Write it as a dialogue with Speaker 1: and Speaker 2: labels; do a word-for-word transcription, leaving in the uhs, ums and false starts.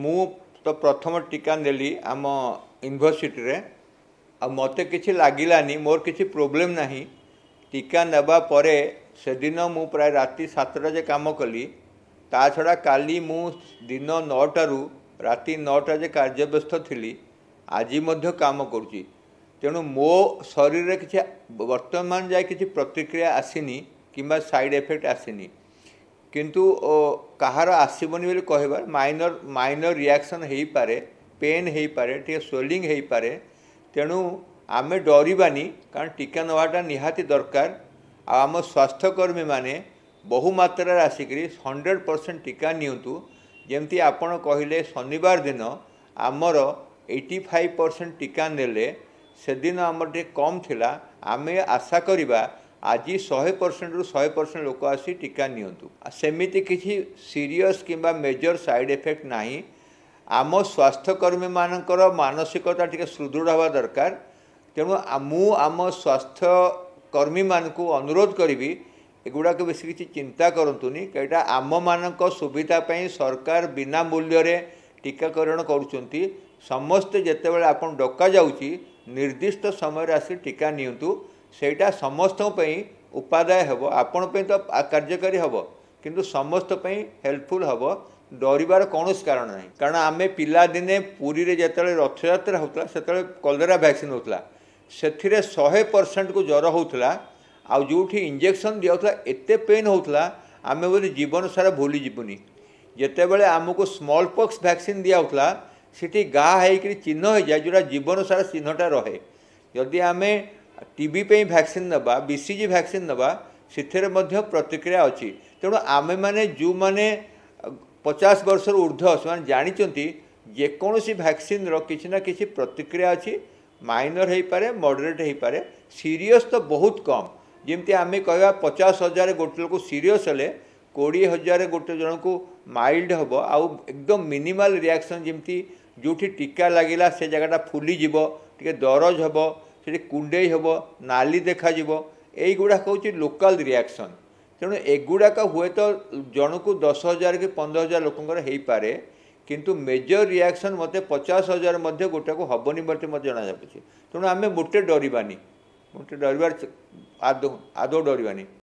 Speaker 1: ମୁଁ ତ ପ୍ରଥମ ଟୀକା ନେଲି ଆମ ୟୁନିଭର୍ସିଟିରେ ଆଉ ମୋତେ କିଛି ଲାଗିଲାନି ମୋର କିଛି ପ୍ରୋବ୍ଲେମ୍ ନାହିଁ ଟୀକା ନେବା ପରେ ସେଦିନ ମୁଁ ପ୍ରାୟ ରାତି ସାତଟା ଯାଏ କାମ କଲି ତା ଛଡ଼ା କାଲି ମୁଁ ଦିନ ନଅଟାରୁ ରାତି ନଅଟା ଯାଏ କାର୍ଯ୍ୟବ୍ୟସ୍ତ ଥିଲି ଆଜି ମଧ୍ୟ କାମ କରୁଛି ତେଣୁ ମୋ ଶରୀରରେ କିଛି ବର୍ତ୍ତମାନ ଯାଏ କିଛି ପ୍ରତିକ୍ରିୟା ଆସିନି କିମ୍ବା ସାଇଡ଼୍ ଏଫେକ୍ଟ ଆସିନି କିନ୍ତୁ ଓ, କାହାର ଆସିବନି ବୋଲି କହିବା ମାଇନର ମାଇନର ରିଆକ୍ସନ୍ ହେଇପାରେ ପେନ୍ ହେଇପାରେ ଟିକେ ସ୍ୱେଲିଂ ହେଇପାରେ ତେଣୁ ଆମେ ଡରିବାନି କାରଣ ଟୀକା ନେବାଟା ନିହାତି ଦରକାର ଆଉ ଆମ ସ୍ୱାସ୍ଥ୍ୟକର୍ମୀମାନେ ବହୁ ମାତ୍ରାରେ ଆସିକରି ହଣ୍ଡ୍ରେଡ଼ ପରସେଣ୍ଟ ଟୀକା ନିଅନ୍ତୁ ଯେମିତି ଆପଣ କହିଲେ ଶନିବାର ଦିନ ଆମର ଏଇଟି ଫାଇଭ୍ ପରସେଣ୍ଟ ଟୀକା ନେଲେ ସେଦିନ ଆମର ଟିକେ କମ୍ ଥିଲା ଆମେ ଆଶା କରିବା ଆଜି ଶହେ ପରସେଣ୍ଟରୁ ଶହେ ପରସେଣ୍ଟ ଲୋକ ଆସି ଟୀକା ନିଅନ୍ତୁ ଆଉ ସେମିତି କିଛି ସିରିୟସ୍ କିମ୍ବା ମେଜର ସାଇଡ଼୍ ଏଫେକ୍ଟ ନାହିଁ ଆମ ସ୍ୱାସ୍ଥ୍ୟକର୍ମୀମାନଙ୍କର ମାନସିକତା ଟିକେ ସୁଦୃଢ଼ ହେବା ଦରକାର ତେଣୁ ଆ- ମୁଁ ଆମ ସ୍ୱାସ୍ଥ୍ୟକର୍ମୀମାନଙ୍କୁ ଅନୁରୋଧ କରିବି ଏଗୁଡ଼ାକ ବେଶୀ କିଛି ଚିନ୍ତା କରନ୍ତୁନି ଏଇଟା ଆମମାନଙ୍କ ସୁବିଧା ପାଇଁ ସରକାର ବିନା ମୂଲ୍ୟରେ ଟୀକାକରଣ କରୁଛନ୍ତି ସମସ୍ତେ ଯେତେବେଳେ ଆପଣ ଡକାଯାଉଛି ନିର୍ଦ୍ଦିଷ୍ଟ ସମୟରେ ଆସି ଟୀକା ନିଅନ୍ତୁ ସେଇଟା ସମସ୍ତଙ୍କ ପାଇଁ ଉପାଦେୟ ହେବ ଆପଣ ପାଇଁ ତ କାର୍ଯ୍ୟକାରୀ ହେବ କିନ୍ତୁ ସମସ୍ତ ପାଇଁ ହେଲ୍ପଫୁଲ୍ ହେବ ଡରିବାର କୌଣସି କାରଣ ନାହିଁ କାରଣ ଆମେ ପିଲାଦିନେ ପୁରୀରେ ଯେତେବେଳେ ରଥଯାତ୍ରା ହେଉଥିଲା ସେତେବେଳେ କଲେରା ଭ୍ୟାକ୍ସିନ୍ ହେଉଥିଲା ସେଥିରେ ଶହେ ପରସେଣ୍ଟକୁ ଜ୍ୱର ହେଉଥିଲା ଆଉ ଯେଉଁଠି ଇଞ୍ଜେକ୍ସନ୍ ଦିଆହେଉଥିଲା ଏତେ ପେନ୍ ହେଉଥିଲା ଆମେ ବୋଧେ ଜୀବନ ସାରା ଭୁଲି ଯିବୁନି ଯେତେବେଳେ ଆମକୁ ସ୍ମଲ୍ ପକ୍ସ ଭ୍ୟାକ୍ସିନ୍ ଦିଆହେଉଥିଲା ସେଠି ଘା ହେଇକରି ଚିହ୍ନ ହେଇଯାଏ ଯେଉଁଟା ଜୀବନ ସାରା ଚିହ୍ନଟା ରହେ ଯଦି ଆମେ ଟିବି ପାଇଁ ଭ୍ୟାକ୍ସିନ୍ ନେବା ବି ସି ଜି ଭ୍ୟାକ୍ସିନ୍ ନେବା ସେଥିରେ ମଧ୍ୟ ପ୍ରତିକ୍ରିୟା ଅଛି ତେଣୁ ଆମେମାନେ ଯେଉଁମାନେ ପଚାଶ ବର୍ଷରୁ ଉର୍ଦ୍ଧ୍ୱ ସେମାନେ ଜାଣିଛନ୍ତି ଯେକୌଣସି ଭ୍ୟାକ୍ସିନ୍ର କିଛି ନା କିଛି ପ୍ରତିକ୍ରିୟା ଅଛି ମାଇନର ହେଇପାରେ ମଡରେଟ୍ ହେଇପାରେ ସିରିୟସ୍ ତ ବହୁତ କମ୍ ଯେମିତି ଆମେ କହିବା ପଚାଶ ହଜାର ଗୋଟେ ଲୋକ ସିରିୟସ୍ ହେଲେ କୋଡ଼ିଏ ହଜାର ଗୋଟେ ଜଣକୁ ମାଇଲ୍ଡ ହେବ ଆଉ ଏକଦମ ମିନିମାଲ ରିଆକ୍ସନ୍ ଯେମିତି ଯେଉଁଠି ଟୀକା ଲାଗିଲା ସେ ଜାଗାଟା ଫୁଲିଯିବ ଟିକେ ଦରଜ ହେବ ସେଠି କୁଣ୍ଡେଇ ହେବ ନାଲି ଦେଖାଯିବ ଏଇଗୁଡ଼ାକ ହେଉଛି ଲୋକାଲ ରିଆକ୍ସନ୍ ତେଣୁ ଏଗୁଡ଼ାକ ହୁଏତ ଜଣକୁ ଦଶ ହଜାର କି ପନ୍ଦର ହଜାର ଲୋକଙ୍କର ହେଇପାରେ କିନ୍ତୁ ମେଜର ରିଆକ୍ସନ୍ ମୋତେ ପଚାଶ ହଜାର ମଧ୍ୟ ଗୋଟାକୁ ହେବନି ବୋଲି ମୋତେ ଜଣାଯାଉଛି ତେଣୁ ଆମେ ମୋଟେ ଡରିବାନି ମୋଟେ ଡରିବାର ଆଦୌ ଆଦୌ ଡରିବାନି।